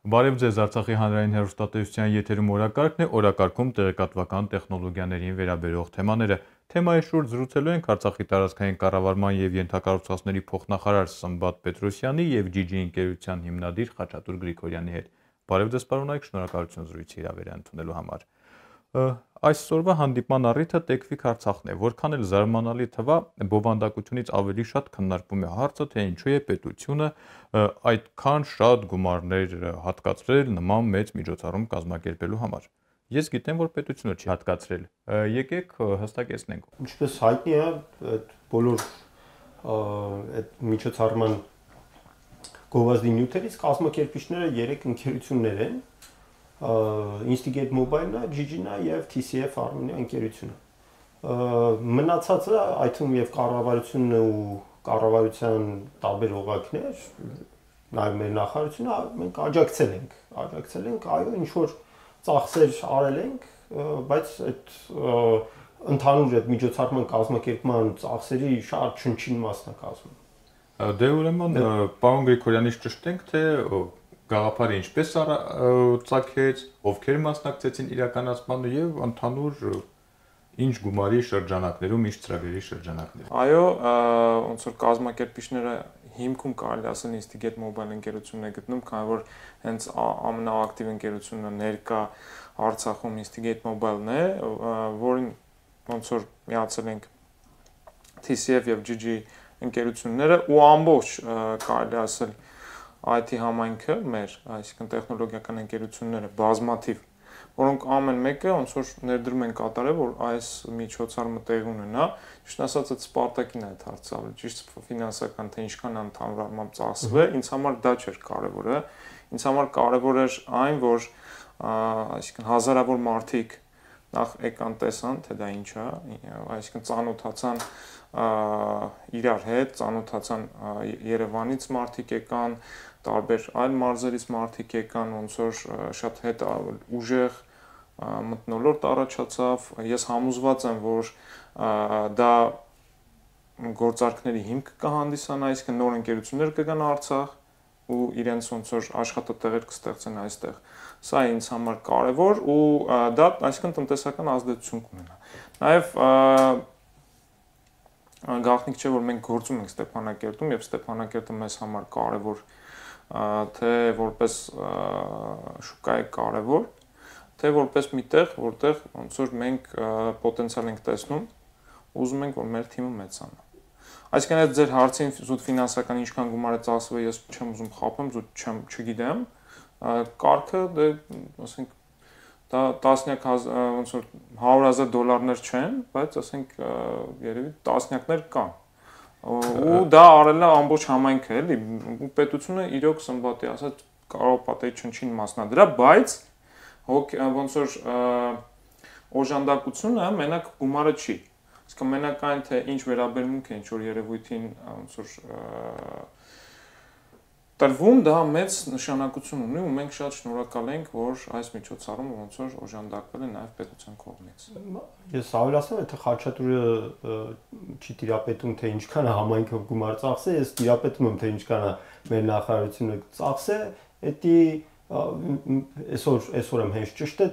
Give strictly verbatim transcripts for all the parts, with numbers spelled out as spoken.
Բարև ձեզ, Արցախի հանրային հեռուստատեսության եթերում օրակարգն է, օրակարգում տեղեկատվական տեխնոլոգիաներին վերաբերող թեմաները։ Թեմայի շուրջ զրուցելու ենք Արցախի տարածքային կառավարման եւ ենթակառուցվածքների փոխնախարար Սմբատ Պետրոսյանի եւ ջի ջի ընկերության հիմնադիր Խաչատուր Գրիգորյանի հետ։ Բարև ձեզ, պարոնայք, շնորհակալություն զրույցի հրավերը ընդունելու համար։ Այսօրվա հանդիպման առիթը Տեքվիկ Արցախն է, որքան էլ զարմանալի թվա, բովանդակությունից ավելի շատ քննարկվում է հարցը, թե ինչու է պետությունը այդքան շատ գումարներ հատկացրել նման մեծ միջոցառում կազմակերպելու համար։ Ես գիտեմ, որ պետությունը չի հատկացրել։ Եկեք հստակեցնենք։ Ինչպես հայտնի է, այդ բոլոր այդ միջոցառման գովազդի նյութերից կազմակերպիչները երեք ընկերություններ են։ Instigate Mobile-ը, ջի ջի-ն եւ թի սի էֆ Armenia ընկերությունը։ Մնացածը, այդ թվում եւ կառավարությունն ու կառավարության տարբեր օղակներ, նաեւ մեր նախարարությունը, մենք աջակցել ենք, աջակցել ենք, այո, ինչ որ ծախսեր արել ենք, բայց այդ ընդհանուր այդ միջոցառման կազմակերպման ծախսերի շատ չնչին մասն է կազմում։ Դե ուրեմն, պարոն Գրիգորյանից ճշտենք, թե գաղափարը ինչպես ծագեց, ովքեր մասնակցեցին իրականացմանը եւ ընդհանուր ինչ գումարի շրջանակներում, ինչ ծրագրերի շրջանակներում։ Այո, ոնց որ կազմակերպիչները հիմքում կարելի ասել Instigate Mobile ընկերությունն է գտնում, քանի որ հենց ամենաակտիվ ընկերությունը ներկա Արցախում Instigate Mobile-ն է, որին ոնց որ միացել ենք թի սի էֆ եւ ջի ջի ընկերությունները ու ամբողջ կարելի ասել այ թի համայնքը մեր, այսինքն տեխնոլոգիական ընկերությունները բազմաթիվ, որոնք ամեն մեկը ոնց որ ներդրում են կատարել, որ այս միջոցառումը տեղի ունենա, ճիշտ ասած այդ Սպարտակին է այդ հարցը, ճիշտ ֆինանսական թե ինչքան ընդհանուր առմամբ ծախսվել, ինձ համար դա չէր կարևորը, ինձ համար կարևոր էր այն, որ այսինքն հազարավոր մարդիկ նախ եկան տեսան, թե դա ինչ է, այսինքն ծանոթացան իրար հետ, ծանոթացան Երևանից մարդիկ եկան, տարբեր այլ մարզերից մարդիկ եկան, ոնց որ շատ հետ ուժեղ մթնոլորտ առաջացավ, ես համոզված եմ, որ դա գործարքների հիմք կհանդիսանա, այսինքն նոր ընկերություններ կգան Արցախ ու իրենց ոնց որ աշխատատեղեր կստեղծեն այստեղ։ Սա ինձ համար կարևոր ու դա այսինքն տնտեսական ազդեցություն կունենա։ Նաև գաղտնիք չէ, որ մենք գործում ենք Ստեփանակերտում եւ Ստեփանակերտը մեզ համար կարևոր թե որպես շուկա է կարևոր, թե որպես մի տեղ, որտեղ ոնց որ մենք պոտենցիալ ենք տեսնում, ուզում ենք, որ մեր թիմը մեծանա։ Այսինքն այդ ձեր հարցին զուտ ֆինանսական ինչքան գումար է ծախսվել, ես չեմ ուզում խաբեմ, զուտ չեմ, չգիտեմ։ Կարգը դե, ասենք, դա տասնյակ ոնց որ հարյուր հազար դոլարներ չեն, բայց ասենք երևի տասնյակներ կան։ Ու դա արել է ամբողջ համայնքը, էլի, ու պետությունը իրոք Սմբատի ասած կարող պատերի չնչին մասնադրա, բայց ոնց որ օժանդակությունը մենակ գումարը չի։ Իսկ մենակ այն թե ինչ վերաբերմունք է ինչ որ երևույթին ոնց որ տրվում, դա մեծ նշանակություն ունի ու մենք շատ շնորհակալ ենք, որ այս միջոցառումը ոնց որ օժանդակվել է նաև պետության կողմից։ Ես ավելացնեմ, թե Խաչատուրը չի տիրապետում, թե ինչքան է համայնքը գումար ծախսել, ես տիրապետում եմ, թե ինչքան է մեր նախարարությունը ծախսել, դա այսօր այսօր եմ հենց ճիշտ է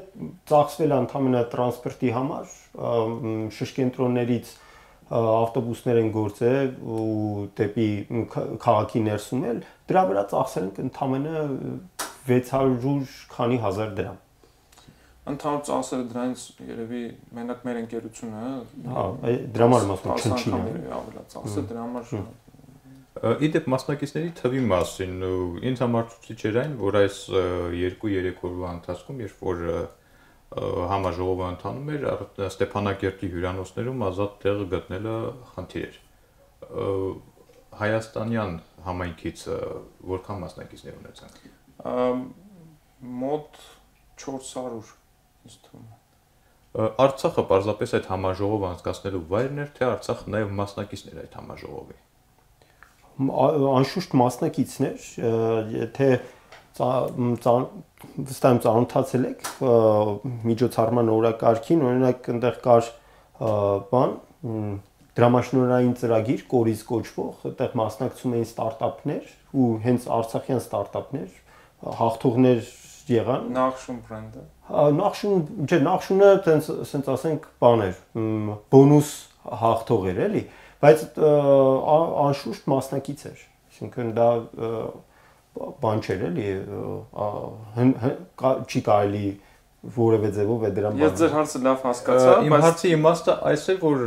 ծախսվել ընդհանրապես տրանսպորտի համար, շրջենտրոններից ավտոբուսներ են գործել ու դեպի քաղաքի ներսում էլ դրա վրա ծախսել ենք ընդհանրապես վեց հարյուր քանի հազար դրամ։ Ընդհանուր ծախսերը դրանից երևի մենակ մեր ընկերությունը, հա, դրա համար մասնակ չնչին է, ավելա ծախսը դրա համար Իդեպ մասնակիցների թվի մասին ինձ համար ցույց էր այն, որ այս երկու-երեք օրվա ընթացքում, երբ որ համաժողովը ընթանում էր, Ստեփանակերտի հյուրանոցներում ազատ տեղ գտնելը խնդիր էր։ Հայաստանյան համայնքից որքան մասնակիցներ ունեցանք։ Մոտ չորս հարյուր, ինձ թվում է։ Արցախը պարզապես այդ համաժողովը անցկացնելու վայրն էր, թե Արցախը նաև մասնակիցներ այդ համաժողովի։ Անշուշտ մասնակիցներ, թե վստահ եմ ծանոթացել եք միջոցառման օրակարգին, օրինակ այնտեղ կար բան, դրամաշնորհային ծրագիր, կորիզ կոչվող, այդտեղ մասնակցում էին ստարտափներ ու հենց արցախյան ստարտափներ, հաղթողներ եղան։ Նախշուն բրենդը։ Նախշուն, չէ, նախշունը տենց ասենք ասենք բան էր, բոնուս հաղթող էր, էլի, բայց անշուշտ մասնակից էր։ Այսինքն դա բան չէր, էլի, չի կարելի որևէ ձևով է դրան բան։ Ես ձեր հարցը լավ հասկացա, բայց իմ հարցի իմաստը այս է, որ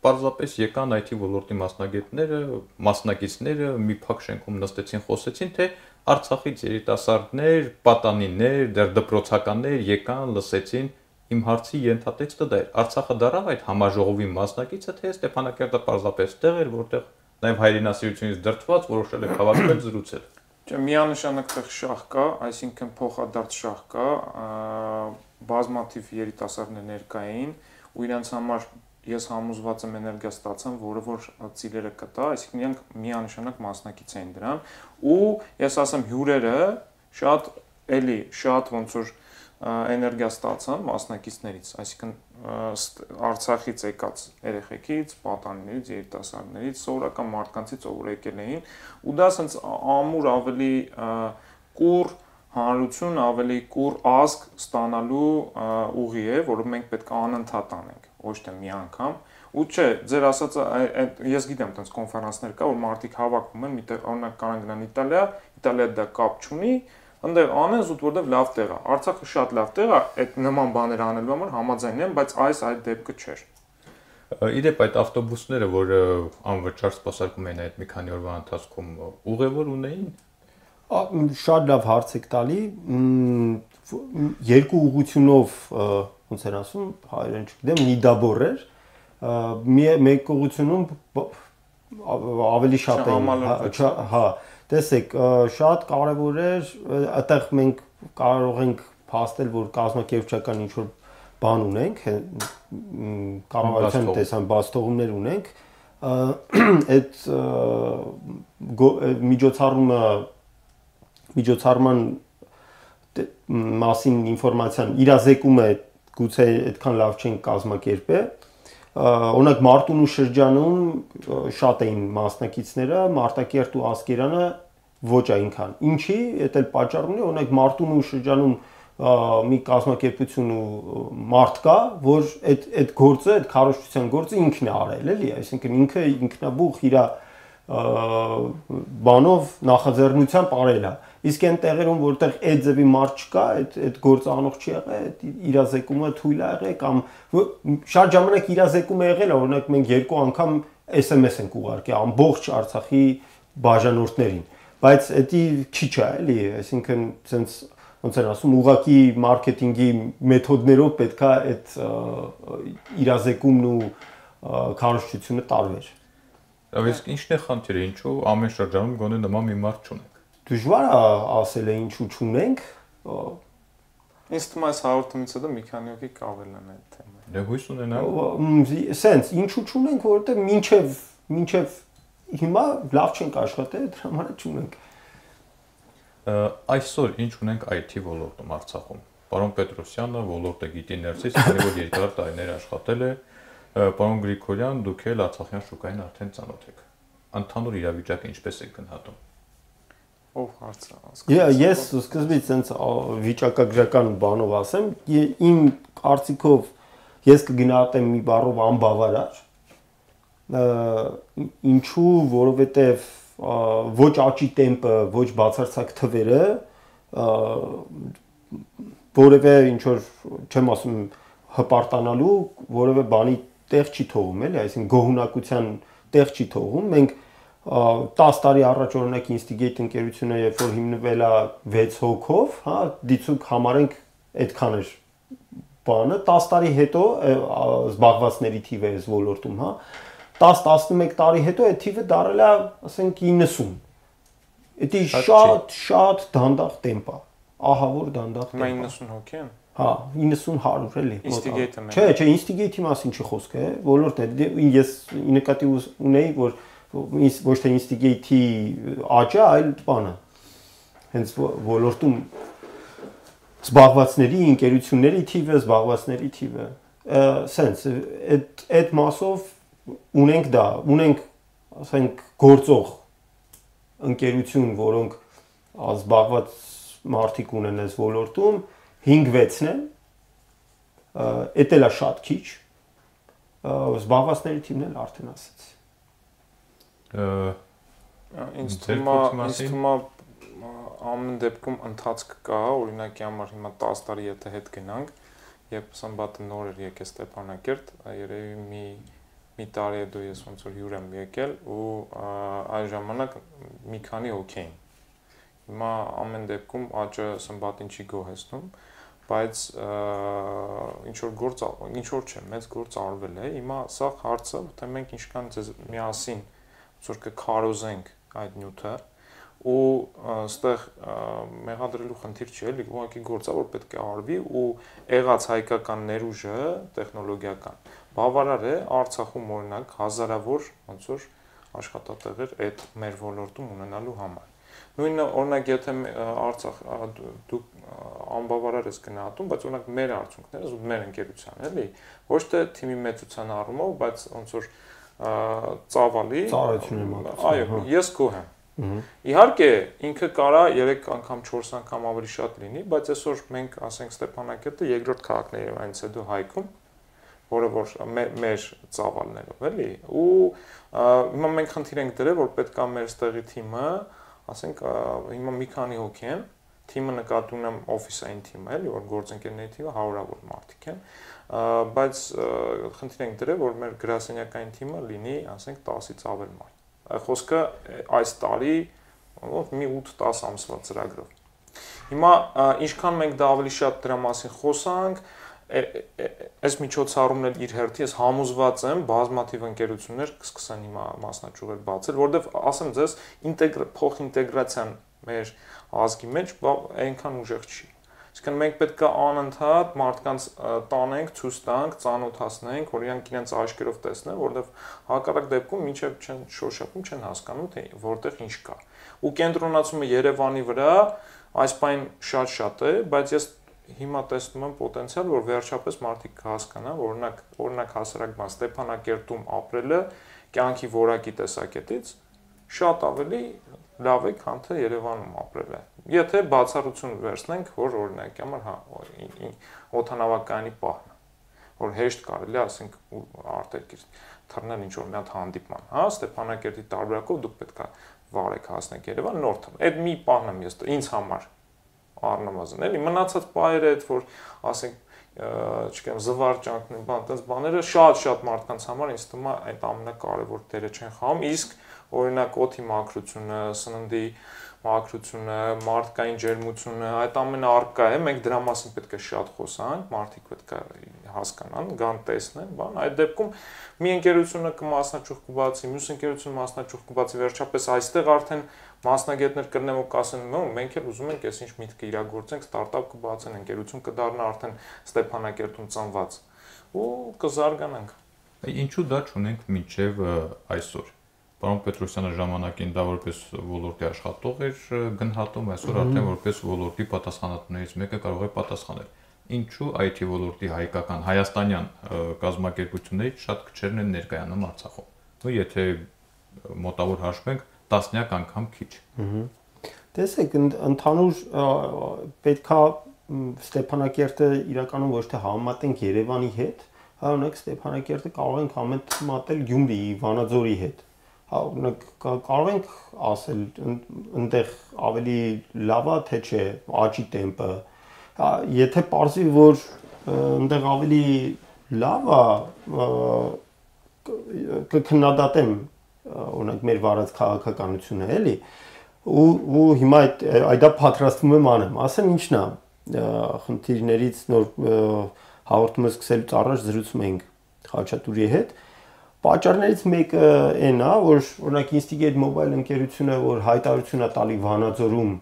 պարզապես եկան այ թի ոլորտի մասնագետները, մասնակիցները մի փակ շենքում նստեցին, խոսեցին, թե Արցախից երիտասարդներ, պատանիներ, դեռ դպրոցականներ եկան, լսեցին, իմ հարցի ենթատեքստը դա էր։ Արցախը դարավ այդ համաժողովի մասնակիցը, թե Ստեփանակերտը պարզապես տեղ էր, որտեղ նաև հայրենասիրությունից դրդված որոշել է հավաքվել զրուցել։ Չէ, միանշանակ տեղ շահ կա, այսինքն փոխադարձ շահ կա, բազմաթիվ երիտասարդներ ներկային ու իրենց համար ես համոզված եմ էներգիա ստացան, որը որ ծիլերը կտա, այսինքն իրենք միանշանակ մասնակից էին դրան ու ես ասեմ հյուրերը շատ էլի շատ ոնց որ էներգիա ստացան մասնակիցներից, այսինքն Արցախից եկած երեխեքից, պատանիներից, երիտասարդներից, սովորական մարդկանցից, ով որ եկել էին ու դա ասենց ամուր ավելի կուռ հանրություն, ավելի կուռ ազգ ստանալու ուղի է, որը մենք պետք է անընդհատ անենք, ոչ թե մի անգամ։ Ու չէ, ձեր ասածը ես գիտեմ, այդպես կոնֆերանսներ կա, որ մարդիկ հավաքվում են, միտեղ օրինակ կարան գնան Իտալիա, Իտալիա դա կապ չունի, այնտեղ անեն զուտ որտեղ լավ տեղ է։ Արցախը շատ լավ տեղ է, այդ նման բաներ անելու համար համաձայն եմ, բայց այս այդ դեպքը չէր։ Իդեպ այդ ավտոբուսները, որ անվճար սպասարկում էին այդ մի քանի օրվա ընթացքում, ուղևոր ունեին։ Շատ լավ հարց եք տալի, երկու ուղղությունով ոնց են ասում, հայերեն չգիտեմ, նիդաբոր էր, մեկ ուղղությունում ավելի շատ էին, հա, տեսեք, շատ կարևոր էր, այդտեղ մենք կարող ենք փաստել, որ կազմակերպչական ինչ-որ բան ունենք, կառավարության տեսան բացթողումներ ունենք, այդ միջոցառումը միջոցառման մասին ինֆորմացիան իրազեկումը գուցե այդքան լավ չեն կազմակերպել։ Օրինակ Մարտունու շրջանում շատ էին մասնակիցները, Մարտակերտ ու Ասկերանը ոչ այնքան։ Ինչի, դա էլ պատճառ ունի, օրինակ Մարտունու շրջանում մի կազմակերպություն ու մարդ կա, որ այդ այդ գործը, այդ քարոզչության գործը ինքն է արել, էլի, այսինքն ինքը ինքնաբուխ իր բանով նախաձեռնությամբ արել է։ Իսկ այն տեղերում, որտեղ այդ ձևի մարդ չկա, այդ այդ գործը անող չի եղել, այդ իրազեկումը թույլ է եղել կամ շատ ժամանակ իրազեկում է եղել, օրինակ մենք երկու անգամ S M S ենք ուղարկել ամբողջ Արցախի բաժանորդներին, բայց դա քիչ է, էլի, այսինքն sense ոնց են ասում, ուղղակի մարքեթինգի մեթոդներով պետքա այդ իրազեկումն ու քարոզչությունը տարվեր։ Իսկ ի՞նչն է խնդիրը, ինչու ամեն շրջանում գոնե նման մի մարդ չունենք։ Դժվար է ասել է ինչու չունենք։ Ինձ թվում է այս հաղորդումից հետո մի քանի հոգի կավելան այդ թեմային։ Դե հույս ունենամ։ Սենց ինչու չունենք, որովհետև մինչև մինչև հիմա լավ չենք աշխատել, դրա համար չունենք։ Այսօր ինչ ունենք I T ոլորտում Արցախում։ Պարոն Պետրոսյանը ոլորտը գիտի ներսից, քանի որ երկար տարիներ աշխատել է, պարոն Գրիգորյան, դուք էլ Արցախյան շուկային արդեն ծանոթ եք։ Ընդհանուր իրավիճակը ինչպես եք գնահատում։ Ով հարցը։ Ես սկզբից sense վիճակագրական բանով ասեմ, իմ կարծիքով ես կգնահատեմ մի բառով անբավարար։ Ինչու, որովհետև ոչ աճի տեմպը, ոչ բացարձակ թվերը, որևէ ինչ որ չեմ ասում հպարտանալու, որևէ բանի տեղ չի թողում, էլի, այսինքն գոհունակության տեղ չի թողում։ Մենք տասը տարի առաջ օրինակ Instigate ընկերությունը, երբ որ հիմնվել է վեց հոգով, հա, դիցուկ համարենք այդքան էր բանը, տասը տարի հետո զբաղվածների թիվը էս ոլորտում, հա, տասը տասնմեկ տարի հետո այդ թիվը դարել է, ասենք իննսուն։ Դա շատ շատ դանդաղ տեմպ է, ահավոր դանդաղ տեմպ։ իննսուն հոգի են։ Հա, իննսուն հարյուր էլի։ Instigate-ը։ Չէ, չէ, Instigate-ի մասին չի խոսքը, ոլորտն է։ Ես նկատի ունեի, որ ոչ թե Instigate-ի աճը, այլ բանը։ Հենց ոլորտում զբաղվածների, ընկերությունների թիվը, զբաղվածների թիվը, sense այդ այդ մասով ունենք դա, ունենք, ասենք, գործող ընկերություն, որոնք զբաղված մարդիկ ունեն այս ոլորտում հինգ-վեցն են, էդ էլ է շատ քիչ, զբաղվածների թիմն էլ արդեն ասեց։ Ինձ թվում է ամեն դեպքում ընթացք կա, օրինակի համար հիմա տասը տարի եթե հետ գնանք, երբ Սմբատը նոր էր եկել Ստեփանակերտ, երևի մի մի տարի հետո ես ոնց որ հյուր եմ եկել ու այն ժամանակ մի քանի հոգի էին։ Հիմա ամեն դեպքում աճը Սմբատին չի գոհեցնում, բայց ինչ որ գործ, ինչ որ չէ, մեծ գործ արվել է։ Հիմա սա հարցը, թե մենք ինչքան ձեզ միասին ոնց որ կքարոզենք այդ նյութը ու այստեղ մեղադրելու խնդիր չի, էլի ուղղակի գործ է, որ պետք է արվի ու եղած հայկական ներուժը տեխնոլոգիական բավարար է Արցախում օրինակ հազարավոր ոնց որ աշխատատեղեր այդ մեր ոլորտում ունենալու համար։ Նույնը օրինակ եթե Արցախ դուք անբավարար ես գնահատում, բայց օրինակ մեր արդյունքները, ու մեր ընկերության, էլի, ոչ թե թիմի մեծության առումով, բայց ոնց որ ծավալի, այո, ես գոհ եմ։ Իհարկե, ինքը կարա երեք անգամ, չորս անգամ ավելի շատ լինի, բայց այսօր մենք, ասենք Ստեփանակերտը երկրորդ քաղաքն է Երևանից հետո Հայքում, որը որ մեր ծավալներով, էլի, ու հիմա մենք խնդիր ենք դրել, որ պետք է մեր ստեղի թիմը, ասենք, հիմա մի քանի հոգի են, թիմը նկատի ունեմ օֆիսային թիմը, էլի, որ գործընկերների թիմը հարյուրավոր մարդիկ են, բայց խնդիր ենք դրել, որ մեր գրասենյակային թիմը լինի, ասենք, տասից ավել մարդ։ Խոսքը այս տարի մի ութ-տասը ամսվա ծրագրով։ Հիմա ինչքան մենք դա ավելի շատ դրա մասին խոսանք, այս միջոցառումն էլ իր հերթի ես համոզված եմ, բազմաթիվ ընկերություններ կսկսեն հիմա մասնաճյուղեր բացել, որովհետև ասեմ ձեզ, փոխինտեգրացիան մեր ազգի մեջ այնքան ուժեղ չի։ Այսինքն մենք պետք է անընդհատ մարդկանց տանենք, ցույց տանք, ծանոթացնենք, որ իրանք իրենց աչքերով տեսնեն, որովհետև հակառակ դեպքում մինչև չեն շոշափում, չեն հասկանում, թե որտեղ ինչ կա։ Ու կենտրոնացումը Երևանի վրա այս բան շատ-շատ է, բայց ես հիմա տեսնում եմ պոտենցիալ, որ վերջապես մարդիկ կհասկանան, որ օրինակ, օրինակ հասարակ բան Ստեփանակերտում ապրելը կյանքի որակի տեսակետից շատ ավելի լավ է, քան թե Երևանում ապրելը։ Եթե բացառություն վերցնենք, որ օրինակի համար, հա, օդանավակայանի պահն, որ հեշտ կարելի է, ասենք, արտերկիր թռնել ինչ-որ մի հատ հանդիպման, հա, Ստեփանակերտի տարբերակով դուք պետք է վարեք հասնեք Երևան, նոր թռ։ Այդ մի պահն եմ ես ինձ համար առնվազն, էլի, մնացած պահերը այդ, որ, ասենք, չգիտեմ, զվարճանքն, բան, այդպես բաները շատ-շատ մարդկանց համար ինձ թվում է այդ ամենակարևոր դերը չեն խաղում, իսկ օրինակ օդի մաքրությունը, սննդի մաքրությունը, մարդկային ջերմությունը, այդ ամենը առկա է, մենք դրա մասին պետք է շատ խոսանք, մարդիկ պետք է հասկանան, գան տեսնեն, բան, այդ դեպքում մի ընկերությունը կմասնաճյուղ կբացի, մյուս ընկերությունը մասնաճյուղ կբացի, վերջապես այստեղ արդեն մասնագետներ կրնեն ու կասեն, մենք էլ ուզում ենք այսինչ միտքը իրագործենք, ստարտափ կբացեն, ընկերություն կդառնա արդեն Ստեփանակերտում ծնված ու կզարգանանք։ Ինչու դա չունենք մինչև այսօր։ Պարոն Պետրոսյանը ժամանակին դա որպես ոլորտի աշխատող էր գնահատում, այսօր արդեն որպես ոլորտի պատասխանատուներից մեկը կարող է պատասխանել։ Ինչու այ թի ոլորտի հայկական հայաստանյան կազմակերպություններից շատ քչերն են ներկայանում Արցախում։ Ու եթե մոտավոր հաշվենք, տասնյակ անգամ քիչ։ Տեսեք, ընդհանուր պետքա Ստեփանակերտը իրականում ոչ թե համեմատենք Երևանի հետ, այլ օրինակ Ստեփանակերտը կարող ենք համեմատել Գյումրիի, Վանաձորի հետ։ Օրինակ կարող ենք ասել այնտեղ ավելի լավ է թե չէ աճի տեմպը, եթե պարզվի որ այնտեղ ավելի լավ է կքննադատեմ օրինակ մեր վարած քաղաքականությունը էլի ու հիմա այդ դա պատրաստվում եմ անեմ, ասեմ ինչն է խնդիրներից նոր հաղորդումը սկսելուց առաջ զրուցում ենք Խաչատուրի հետ Պատճառներից մեկը այն է, որ օրինակ Instigate Mobile ընկերությունը, որ հայտարարություն է տալի Վանաձորում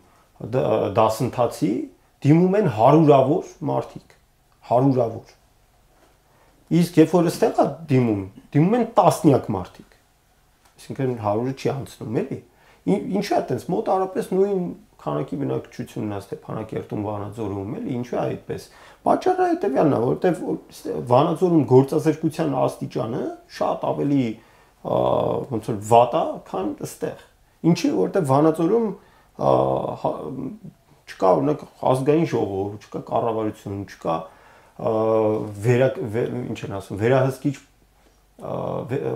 դասընթացի, դիմում են հարյուրավոր մարդիկ, հարյուրավոր։ Իսկ երբ որ այստեղ է դիմում, դիմում են տասնյակ մարդիկ։ Այսինքն հարյուրը չի անցնում, էլի։ Ինչու է այդպես մոտարապես նույն քանակի բնակչությունն է Ստեփանակերտում, Վանաձորում, էլի, ինչու է այդպես։ Պատճառը հետևյալն է, որովհետև Վանաձորում գործազրկության աստիճանը շատ ավելի ոնց որ վատ է, քան այստեղ։ Ինչի, որովհետև Վանաձորում չկա օրինակ ազգային ժողով, չկա կառավարություն, չկա վերա ինչ են ասում, վերահսկիչ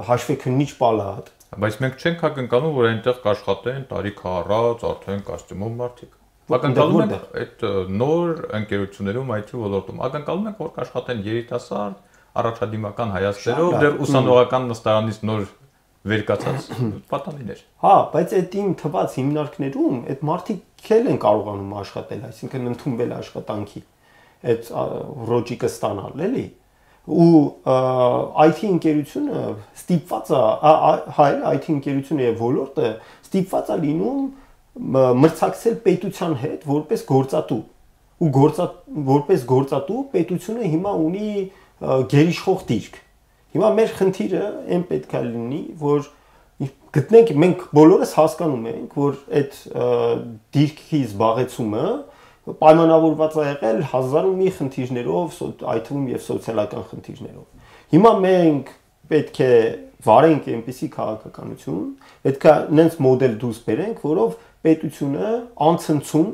հաշվեկնիչ պալատ։ Բայց մենք չենք ակնկալում, որ այնտեղ կաշխատեն տարիք առած արդեն կոստյումով մարդիկ։ Ակնկալում ենք այդ նոր ընկերություններում այ թի ոլորտում, ակնկալում ենք, որ կաշխատեն երիտասարդ, առաջադիմական հայացքներով, դեռ ուսանողական նստարանից նոր վերկացած պատանիներ։ Հա, բայց այդ իմ թված հիմնարկներում այդ մարդիկ էլ են կարողանում աշխատել, այսինքն ընդունվել աշխատանքի, այդ ռոջիկը ստանալ, էլի։ Ու այ թի ընկերությունը ստիպված է, հայ այ թի ընկերությունը եւ ոլորտը ստիպված է լինում մրցակցել պետության հետ որպես գործատու։ Ու գործա որպես գործատու պետությունը հիմա ունի գերիշխող դիրք։ Հիմա մեր խնդիրը այն պետք է լինի, որ գտնենք մենք բոլորս հասկանում ենք, որ այդ դիրքի զբաղեցումը պայմանավորված է եղել հազար ու մի խնդիրներով, այդ թվում եւ սոցիալական խնդիրներով։ Հիմա մենք պետք է վարենք այնպիսի քաղաքականություն, պետք է նենց մոդել դուրս բերենք, որով պետությունը անցնցում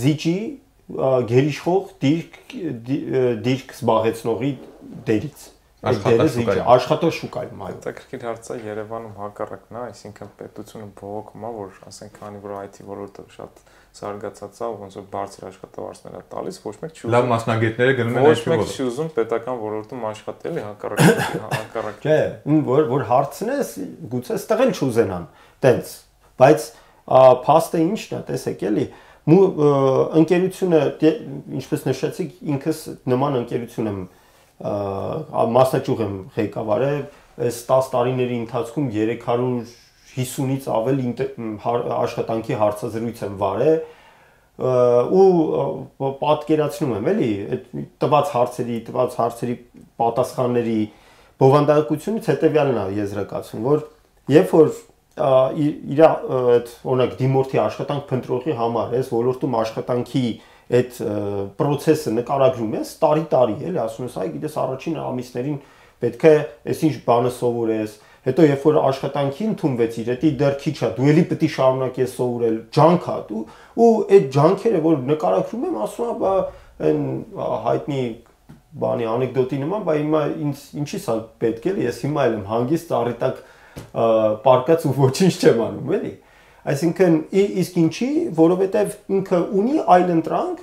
զիջի գերիշխող դիրք դիրք զբաղեցնողի դերից։ Աշխատաշուկայում, այո։ Հետաքրքիր հարց է, Երևանում հակառակն է, այսինքն պետությունը բողոքում է, որ ասենք քանի որ այ թի ոլորտը շատ զարգացած է, ոնց որ բարձր աշխատավարձներ է տալիս, ոչ մեկ չի ուզում։ Լավ մասնագետները գնում են ոչ մեկ չի ուզում պետական ոլորտում աշխատել, հակառակ հակառակ։ Չէ, որ որ հարցն է, գուցե ստեղ էլ չուզենան, տենց, բայց փաստը ինչն է, տեսեք էլի, ընկերությունը, ինչպես նշեցիք, ինքս նման ընկերություն եմ մասնաճյուղ եմ ղեկավարել, այս տասը տարիների ընթացքում երեք հարյուր հիսունից ավել աշխատանքի հարցազրույց եմ վարել ու պատկերացնում եմ, էլի, այդ տված հարցերի, տված հարցերի պատասխանների բովանդակությունից հետևյալն է եզրակացում, որ երբ որ իր այդ օրինակ դիմորդի աշխատանք փնտրողի համար էս ոլորտում աշխատանքի այդ process-ը նկարագրում ես տարի-տարի, էլի, ասում ես, այ գիտես առաջին ամիսներին պետք է այսինչ բանը սովորես, հետո երբ որ աշխատանքի ընդունվեցիր, դա դեռ քիչ է, դու էլի պետք է շարունակես սովորել, ջանք է, ու այդ ջանքերը, որ նկարագրում եմ, ասում եմ, բա այն հայտնի բանի անեկդոտի նման, բա հիմա ինձ ինչի՞ս է պետք է, ես հիմա էլ եմ հանգիստ ծառի տակ պարկած ու ոչինչ չեմ անում, էլի։ Այսինքն իսկ ինչի, որովհետև ինքը ունի այլ ընտրանք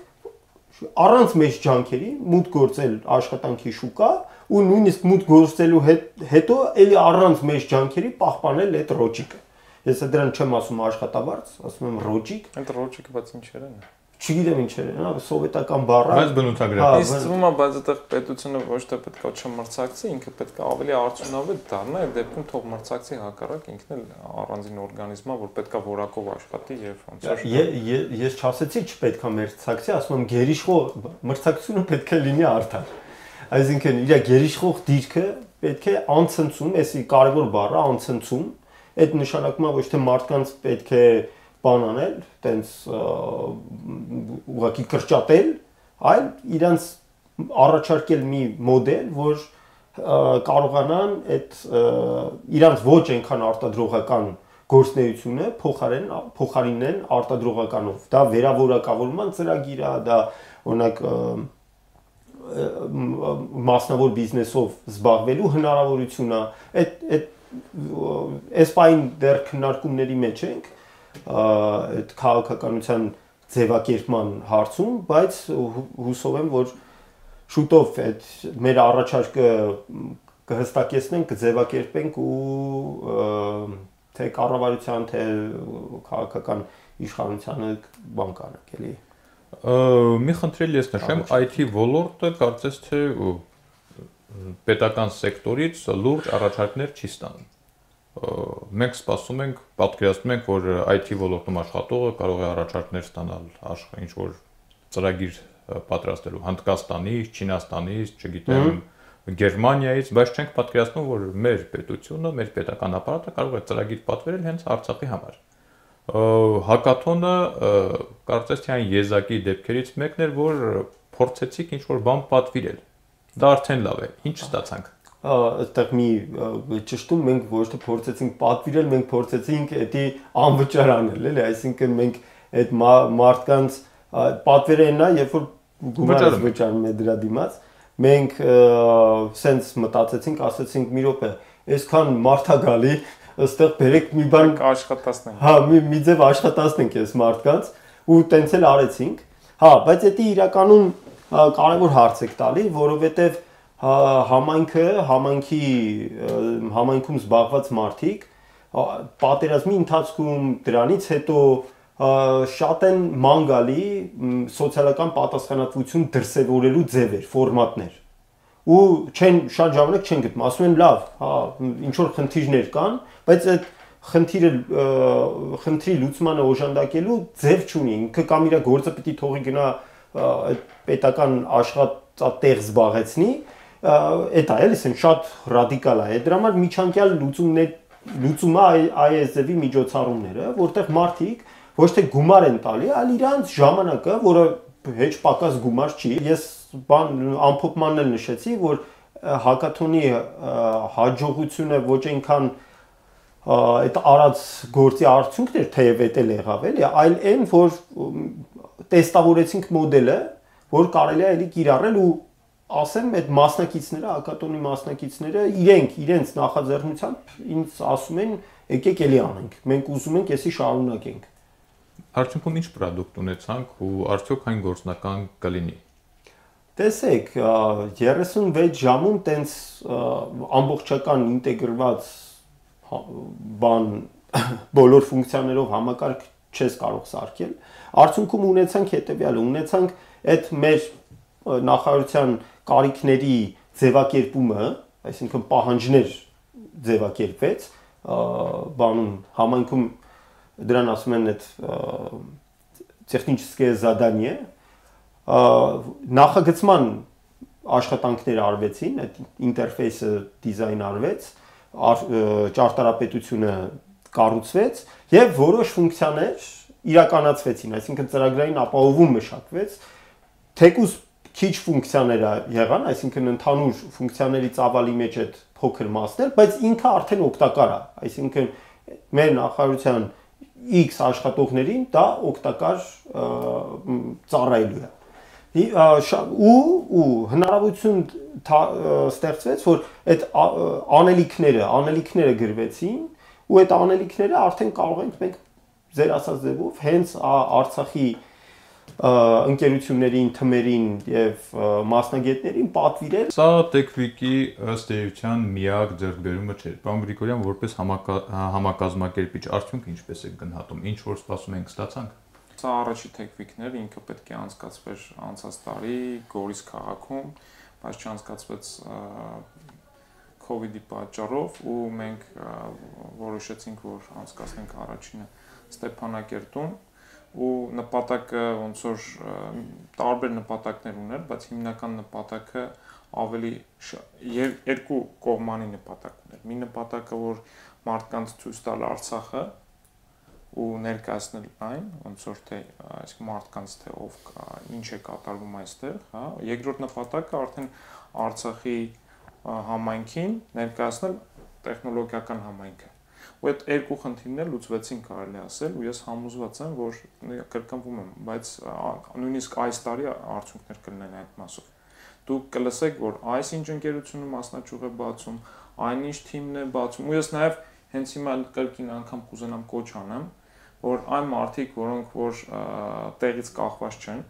առանց մեծ ջանքերի մուտք գործել աշխատանքի շուկա ու նույնիսկ մուտք գործելու հետո էլի առանց մեծ ջանքերի պահպանել այդ ռոջիկը։ Ես դրան չեմ ասում աշխատավարձ, ասում եմ ռոջիկ։ Այդ ռոջիկը բաց ինչեր են։ Չգիտեմ ինչեր են, հա, սովետական բառը։ Բայց բնութագրական։ Իսկ թվում է, բայց այդտեղ պետությունը ոչ թե պետք է չմրցակցի, ինքը պետք է ավելի արդյունավետ դառնա, այդ դեպքում թող մրցակցի հակառակ ինքն էլ առանձին օրգանիզմ է, որ պետք է որակով աշխատի եւ ոնց որ։ Ես չասեցի չպետք է մրցակցի, ասում եմ գերիշխող մրցակցությունը պետք է լինի արդար։ Այսինքն իր գերիշխող դիրքը պետք է անցնցում, էսի կարևոր բառը անցնցում, այդ նշանակում է ոչ թե մարդկանց պետք է բան անել, տենց ուղղակի կրճատել, այլ իրանց առաջարկել մի մոդել, որ կարողանան այդ իրանց ոչ այնքան արտադրողական գործունեությունը փոխարեն փոխարինեն արտադրողականով։ Դա վերավորակավորման ծրագիր է, դա օրինակ մասնավոր բիզնեսով զբաղվելու հնարավորություն է։ Այդ այդ էսպայն դեռ քննարկումների մեջ ենք այդ քաղաքականության ձևակերպման հարցում, բայց հուսով եմ, որ շուտով այդ մեր առաջարկը կհստակեցնենք, կձևակերպենք ու թե կառավարության, թե քաղաքական իշխանությանը բան կանենք, էլի։ Մի խնդրել ես նշեմ, այ թի ոլորտը կարծես թե պետական սեկտորից լուրջ առաջարկներ չի ստանում։ Մենք սպասում ենք, պատկերացնում ենք, որ այ թի ոլորտում աշխատողը կարող է առաջարկներ ստանալ ինչ որ ծրագիր պատրաստելու Հնդկաստանից, Չինաստանից, չգիտեմ, Գերմանիայից, բայց չենք պատկերացնում, որ մեր պետությունը, մեր պետական ապարատը կարող է ծրագիր պատվերել հենց Արցախի համար։ Հակաթոնը կարծես թե այն եզակի դեպքերից մեկն էր, որ փորձեցիք ինչ որ բան պատվիրել։ Դա արդեն լավ է։ Ինչ ստացանք։ Այդտեղ մի ճշտում մենք ոչ թե փորձեցինք պատվիրել, մենք փորձեցինք դա անվճար անել, էլի, այսինքն մենք այդ մարդկանց պատվերը են նա, երբ որ գումարը վճարում է դրա դիմաց, մենք սենց մտածեցինք, ասացինք մի րոպե, այսքան մարդ է գալի, այստեղ բերեք մի բան աշխատացնենք։ Հա, մի մի ձև աշխատացնենք այս մարդկանց ու տենց էլ արեցինք։ Հա, բայց դա իրականում կարևոր հարց եք տալի, որովհետև համայնքը, համայնքի համայնքում զբաղված մարդիկ պատերազմի ընթացքում դրանից հետո շատ են ման գալի սոցիալական պատասխանատվություն դրսևորելու ձևեր, ֆորմատներ։ Ու չեն շատ ժամանակ չեն գտնում, ասում են լավ, հա, ինչ որ խնդիրներ կան, բայց այդ խնդիրը խնդրի լուծմանը օժանդակելու ձև չունի, ինքը կամ իր գործը պիտի թողի գնա այդ պետական աշխատատեղ զբաղեցնի, այդ է, էլի ասեն շատ ռադիկալ է, դրա համար միջանկյալ լուծումներ լուծումը այ այս ձևի միջոցառումները, որտեղ մարդիկ ոչ թե գումար են տալի, այլ իրանց ժամանակը, որը հեչ պակաս գումար չի։ Ես բան ամփոփմանն էլ նշեցի, որ հակաթոնի հաջողությունը ոչ այնքան այդ արած գործի արդյունքն էր, թեև էդ էլ եղավ, էլի, այլ այն, որ տեստավորեցինք մոդելը, որ կարելի է էլի կիրառել ու ասեմ, այդ մասնակիցները, հակատոնի մասնակիցները իրենք իրենց նախաձեռնությամբ ինձ ասում են, եկեք էլի անենք։ Մենք ուզում ենք էսի շարունակենք։ Արդյունքում ինչ պրոդուկտ ունեցանք ու արդյոք այն գործնական կլինի։ Տեսեք, երեսունվեց ժամում տենց ամբողջական ինտեգրված բան բոլոր ֆունկցիաներով համակարգ չես կարող սարքել։ Արդյունքում ունեցանք հետևյալը, ունեցանք այդ մեր նախարարության կարիքների ձևակերպումը, այսինքն պահանջներ ձևակերպվեց, բանում համայնքում դրան ասում են այդ տեխնիկական задание, նախագծման աշխատանքներ արվեցին, այդ ինտերֆեյսը դիզայն արվեց, ճարտարապետությունը կառուցվեց եւ որոշ ֆունկցիաներ իրականացվեցին, այսինքն ծրագրային ապահովում մշակվեց, թեկուզ քիչ ֆունկցիաներ եղան, այսինքն ընդհանուր ֆունկցիաների ծավալի մեջ այդ փոքր մասներ, բայց ինքը արդեն օգտակար է, այսինքն մեր նախարարության X աշխատողներին դա օգտակար ծառայելու է։ Ու ու հնարավորություն ստեղծվեց, որ այդ անելիքները, անելիքները գրվեցին, ու այդ անելիքները արդեն կարող ենք մենք ձեր ասած ձևով հենց Արցախի ընկերություններին, թմերին եւ մասնագետներին պատվիրել։ Սա Tech-Week-ի ըստ էության միակ ձեռքբերումը չէր։ Պարոն Գրիգորյան, որպես համակազմակերպիչ, արդյունքը ինչպես է գնահատում, ինչ որ սպասում ենք ստացանք։ Սա առաջի Tech-Week-ն էր, ինքը պետք է անցկացվեր անցած տարի Գորիս քաղաքում, բայց չանցկացվեց COVID-ի պատճառով ու մենք որոշեցինք, որ անցկացնենք առաջինը Ստեփանակերտում ու նպատակը ոնց որ տարբեր նպատակներ ուներ, բայց հիմնական նպատակը ավելի երկու կողմանի նպատակ ուներ։ Մի նպատակը, որ մարդկանց ցույց տալ Արցախը ու ներկայացնել այն, ոնց որ թե այսինքն մարդկանց թե ով ինչ է կատարվում այստեղ, հա։ Երկրորդ նպատակը արդեն Արցախի համայնքին ներկայացնել տեխնոլոգիական համայնքը։ Ու այդ երկու խնդիրներ լուծվեցին, կարելի ասել, ու ես համոզված եմ, որ կրկնվում եմ, բայց նույնիսկ այս տարի արդյունքներ կլինեն այդ մասով։ Դուք կլսեք, որ այս ինչ ընկերությունը մասնաճյուղ է բացում, այնինչ թիմն է բացում, ու ես նաև հենց հիմա կրկին անգամ կուզենամ կոչ անեմ, որ այն մարդիկ, որոնք որ տեղից կախված չեն,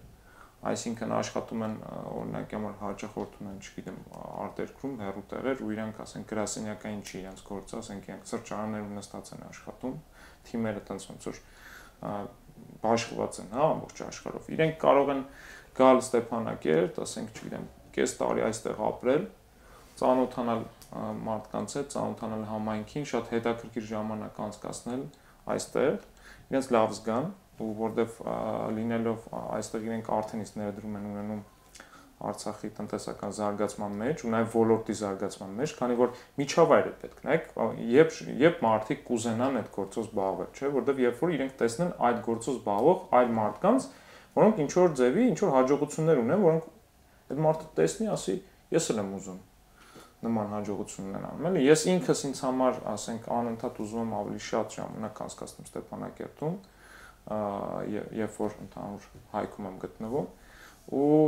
այսինքն աշխատում են օրինակ համար հաճախորդ ունեն, չգիտեմ, արտերկրում, հեռու տեղեր ու իրանք ասեն գրասենյակային չի իրենց գործը, ասենք իրանք սրճարաններում նստած են աշխատում, թիմերը տենց ոնց որ բաշխված են, հա, ամբողջ աշխարհով։ Իրենք կարող են գալ Ստեփանակերտ, ասենք, չգիտեմ, կես տարի այստեղ ապրել, ծանոթանալ մարդկանց հետ, ծանոթանալ համայնքին, շատ հետաքրքիր ժամանակ անցկացնել այստեղ, իրենց լավ զգան, ու որտեվ լինելով այստեղ իրենք արդեն իսկ ներդրում են ունենում Արցախի տնտեսական զարգացման մեջ ու նաև ոլորտի զարգացման մեջ, քանի որ միջավայր է պետք, նայեք, երբ երբ մարդիկ կուզենան այդ գործով զբաղվել, չէ, որտեվ երբ որ իրենք տեսնեն այդ գործով զբաղվող այլ մարդկանց, որոնք ինչ որ ձևի, ինչ որ հաջողություններ ունեն, որոնք այդ մարդը տեսնի, ասի, ես էլ եմ ուզում նման հաջողություն ունենամ, էլի, ես ինքս ինձ համար, ասենք, անընդհատ ուզում եմ ավելի շատ ժամանակ անցկացնել Ստեփանակերտում, երբ որ ընդհանուր հայքում եմ գտնվում ու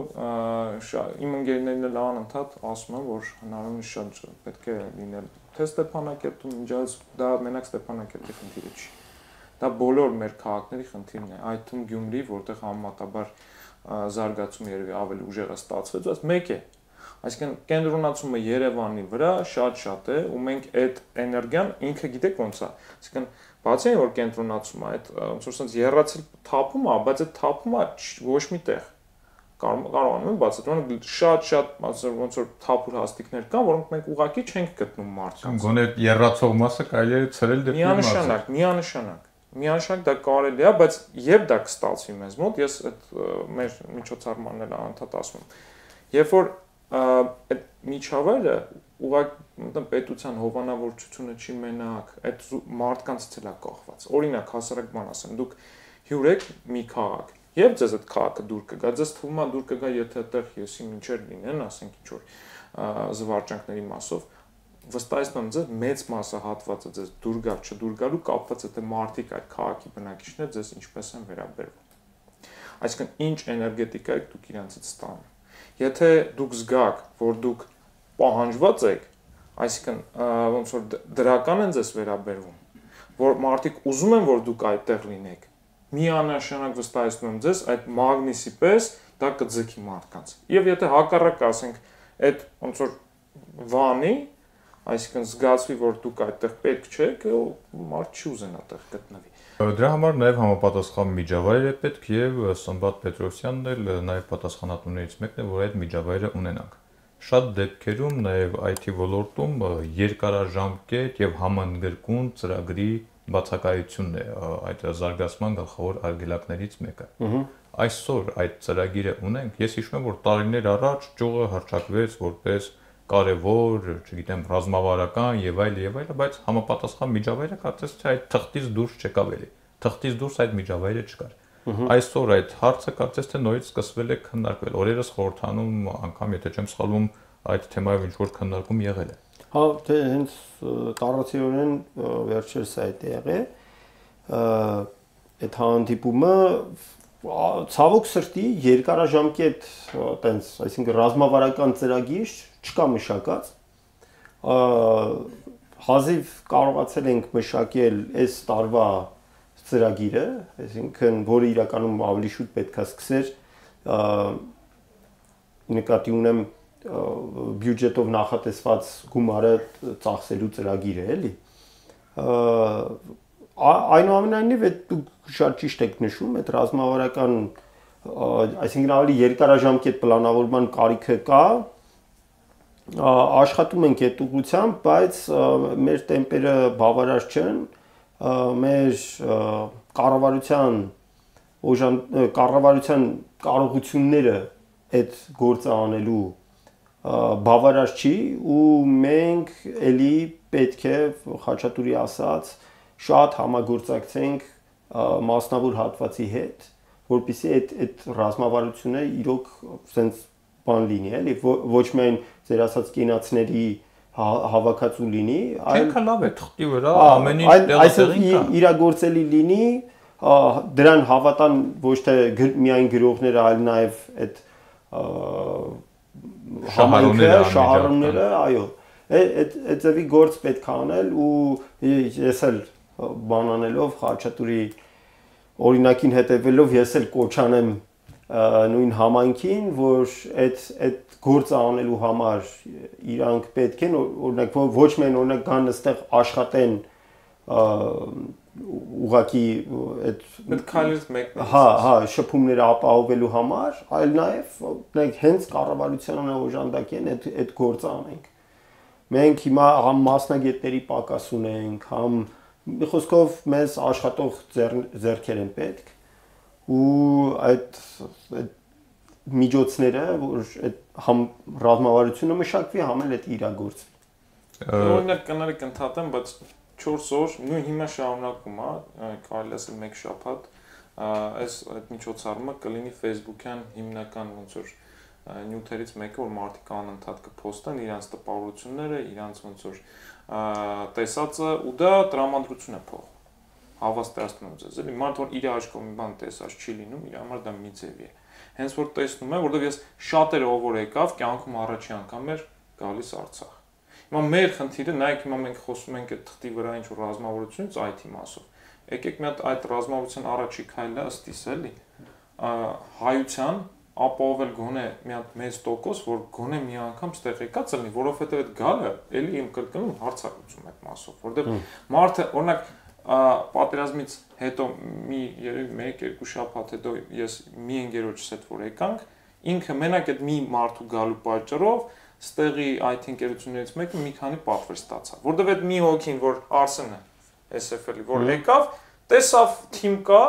իմ ընկերներն էլ անընդհատ ասում են, որ հնարավորինս շատ պետք է լինել թե Ստեփանակերտում, ինչպես դա մենակ Ստեփանակերտի խնդիրը չի։ Դա բոլոր մեր քաղաքների խնդիրն է, այդ թվում Գյումրի, որտեղ համեմատաբար զարգացումը երևի ավելի ուժեղ է ստացվել, բայց մեկ է։ Այսինքն կենտրոնացումը Երևանի վրա շատ-շատ է ու մենք այդ էներգիան ինքը գիտեք ոնց է։ Այսինքն բացի այն որ կենտրոնացումը այդ ոնց որ sense երրացել թափում է, բայց այդ թափումը ոչ մի տեղ կարողանում են բացատրել շատ-շատ ոնց որ թափուր հաստիկներ կան, որոնք մենք ուղղակի չենք գտնում մարդկանց։ Գոնե երրացող մասը կարելի է ցրել դեպի մասը։ Միանշանակ, միանշանակ։ Միանշանակ դա կարելի է, բայց երբ դա կստացվի մեզ մոտ, ես այդ մեր միջոցառմանն անդադ ասում եմ։ Երբ որ այդ միջավայրը ուղղակի պետության հովանավորչությունը չի մենակ, այդ մարդկանցից էլ է կախված։ Օրինակ, հասարակ բան ասեմ, դուք հյուր եք մի քաղաք, եւ ձեզ այդ քաղաքը դուր կգա, ձեզ թվում է դուր կգա, եթե այդտեղ եսի մինչեր լինեն, ասենք ինչ որ զվարճանքների մասով, վստահեցնում եմ ձեզ մեծ մասը հատվածը ձեզ դուր գալ, չդուր գալու կապված է թե մարդիկ այդ քաղաքի բնակիչները ձեզ ինչպես են վերաբերվում։ Այսինքն ինչ էներգետիկա եք դուք իրանցից ստանում։ Եթե դուք զգաք, որ դուք պահանջված եք, այսինքն ոնց որ դրական են ձեզ վերաբերվում, որ մարդիկ ուզում են, որ դուք այդտեղ լինեք, միանշանակ վստահեցնում եմ ձեզ, այդ մագնիսի պես դա կձգի մարդկանց։ Եվ եթե հակառակը ասենք, այդ ոնց որ վանի, այսինքն զգացվի, որ դուք այդտեղ պետք չեք, մարդ չի ուզենա այդտեղ գտնվի։ Դրա համար նաև համապատասխան միջավայր է պետք եւ Սմբատ Պետրոսյանն էլ նաև պատասխանատուներից մեկն է, որ այդ միջավայրը ունենանք։ Շատ դեպքերում նաև այ թի ոլորտում երկարաժամկետ եւ համընդգրկուն ծրագրի բացակայությունն է այդ զարգացման գլխավոր արգելակներից մեկը։ Այսօր այդ ծրագիրը ունենք, ես հիշում եմ, որ տարիներ առաջ ճյուղը հռչակվեց որպես կարևոր, չգիտեմ, ռազմավարական եւ այլ եւ այլ, բայց համապատասխան միջավայրը կարծես թե այդ թղթից դուրս չեկավ էլի։ Թղթից դուրս այդ միջավայրը չկար։ Այսօր այդ հարցը կարծես թե նորից սկսվել է քննարկվել։ Օրերս խորհրդանում անգամ, եթե չեմ սխալվում, այդ թեմայով ինչ որ քննարկում եղել է։ Հա, դե հենց տարածիորեն վերջերս այդ եղել։ Այդ հանդիպումը ցավոք սրտի երկարաժամկետ տենց, այսինքն ռազմավարական ծրագիր չկա մշակած։ Հազիվ կարողացել ենք մշակել այս տարվա ծրագիրը, այսինքն որը իրականում ավելի շուտ պետք է սկսեր, նկատի ունեմ բյուջետով նախատեսված գումարը ծախսելու ծրագիրը, էլի։ Այնուամենայնիվ այդ դուք շատ ճիշտ եք նշում, այդ ռազմավարական, այսինքն ավելի երկարաժամկետ պլանավորման կարիքը կա, աշխատում ենք այդ ուղղությամբ, բայց մեր տեմպերը բավարար չեն, մեր կառավարության օժան կառավարության կարողությունները այդ գործը անելու բավարար չի ու մենք էլի պետք է Խաչատուրի ասած շատ համագործակցենք մասնավոր հատվածի հետ, որպեսզի այդ այդ ռազմավարությունը իրոք sense բան լինի, էլի ոչ միայն ձեր ասած կենացների հավաքածու լինի, այլ լավ է թղթի վրա ամեն ինչ տեղին կա։ Իրագործելի լինի, դրան հավատան ոչ թե միայն գրողները, այլ նաև այդ համայնքը, շահառուները, այո, այդ այդ ձևի գործ պետք է անել ու ես էլ բան անելով Խաչատուրի օրինակին հետևելով ես էլ կոչ անեմ նույն համայնքին, որ այդ այդ գործը անելու համար իրանք պետք են օրինակ ոչ միայն օրինակ կան այստեղ աշխատեն ուղակի այդ այդ քայլից մեկն է։ Հա, հա, շփումները ապահովելու համար, այլ նաև մենք հենց կառավարությանը օժանդակ են այդ այդ գործը անենք։ Մենք հիմա համ մասնագետների պակաս ունենք, համ մի խոսքով մեզ աշխատող ձեռքեր են պետք ու այդ միջոցները, որ այդ համ ռազմավարությունը մշակվի, համ էլ այդ իրագործվի։ Օրինակ կներեք ընդհատեմ, բայց չորս օր, նույն հիմա շարունակում է, կարելի ասել մեկ շաբաթ, այս այդ միջոցառումը կլինի Facebook-յան հիմնական ոնց որ նյութերից մեկը, որ մարդիկ անընդհատ կփոստեն իրանց տպավորությունները, իրանց ոնց որ տեսածը ու դա տրամադրություն է փոխ։ հավաստիացնում եմ ձեզ, էլի մարդ որ իր աչքով մի բան տեսած չի լինում, իր համար դա մի ձև է։ Հենց որ տեսնում եմ, որովհետև ես շատերը ով որ եկավ, կյանքում առաջի անգամ էր գալիս Արցախ։ Հիմա մեր խնդիրը, նայեք հիմա մենք խոսում ենք այդ թղթի վրա ինչ որ ռազմավարությունից այ թի մասով։ Եկեք մի հատ այդ ռազմավարության առաջի քայլը ըստ իս էլի հայության ապահովել գոնե մի հատ մեծ տոկոս, որ գոնե մի անգամ ստեղ եկած լինի, որովհետև այդ գալը էլի իմ կրկնում հարցակցում այդ մասով, որովհետև մարդը օրինակ պատերազմից հետո մի երևի մեկ-երկու շաբաթ հետո ես մի ընկերոջս հետ որ եկանք, ինքը մենակ այդ մի մարդու գալու պատճառով ստեղի այ թի ընկերություններից մեկը մի քանի պատվեր ստացավ, որովհետև այդ մի հոգին, որ Արսենը էս էֆ էլ-ի, որ եկավ, տեսավ թիմ կա,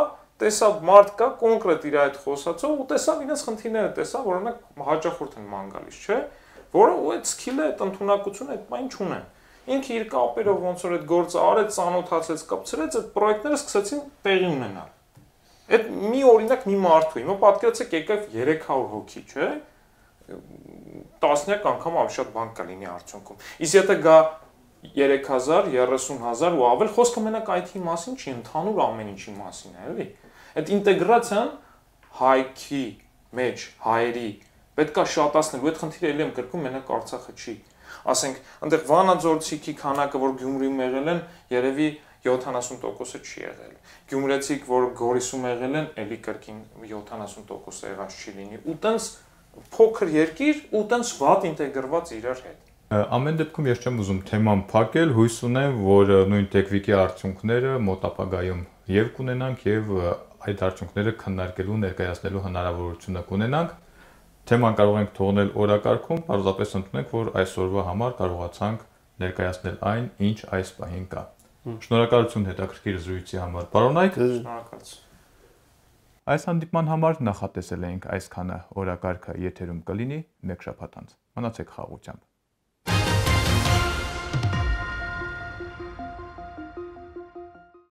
տեսավ մարդ կա, կոնկրետ իր այդ խոսածով ու տեսավ իրենց խնդիրները, տեսավ, որ օրինակ հաճախորդ են ման գալիս, չէ՞, որը ու այդ սկիլը, այդ ընդունակությունը այդ բան չունեն։ Ինքը իր կապերով ոնց որ այդ գործը արեց, ծանոթացեց, կապցրեց, այդ պրոյեկտները սկսեցին տեղի ունենալ։ Այդ մի օրինակ մի մարդու, հիմա պատկերացեք եկավ երեք հարյուր հոգի, չէ՞, տասնյակ անգամ ավելի շատ բան կա լինի արդյունքում։ Իսկ եթե գա երեք հազար, երեսուն հազար ու ավել, խոսքը մենակ այ թի մասին չի, ընդհանուր ամեն ինչի մասին է, էլի։ Այդ ինտեգրացիան հայքի մեջ, հայերի պետքա շատացնել, ու այդ խնդիրը էլի եմ կրկում, մենակ Արցախը չի։ Ասենք, այնտեղ վանաձորցիքի քանակը, որ Գյումրիում եղել են, երևի յոթանասուն տոկոսը չի եղել։ Գյումրեցիք, որ Գորիսում եղել են, էլի կրկին յոթանասուն տոկոսը եղած չի լինի։ Ու տենց փոքր երկիր, ու տենց վատ ինտեգրված իրար հետ։ Ամեն դեպքում ես չեմ ուզում թեման փակել, հույս ունեմ, որ նույն տեխնիկի արդյունքները մոտ ապագայում եւ կունենանք եւ այդ արդյունքները քննարկելու, ներկայացնելու հնարավորությունը կունենանք։ Թեման կարող ենք թողնել օրակարգում, պարզապես ընդունենք, որ այսօրվա համար կարողացանք ներկայացնել այն, ինչ այս պահին կա։ Շնորհակալություն հետաքրքիր զրույցի համար։ Պարոնայք, շնորհակալություն։ Այս հանդիպման համար նախատեսել էինք այսքանը, օրակարգը եթերում կլինի մեկ շաբաթ անց։ Մնացեք խաղաղությամբ։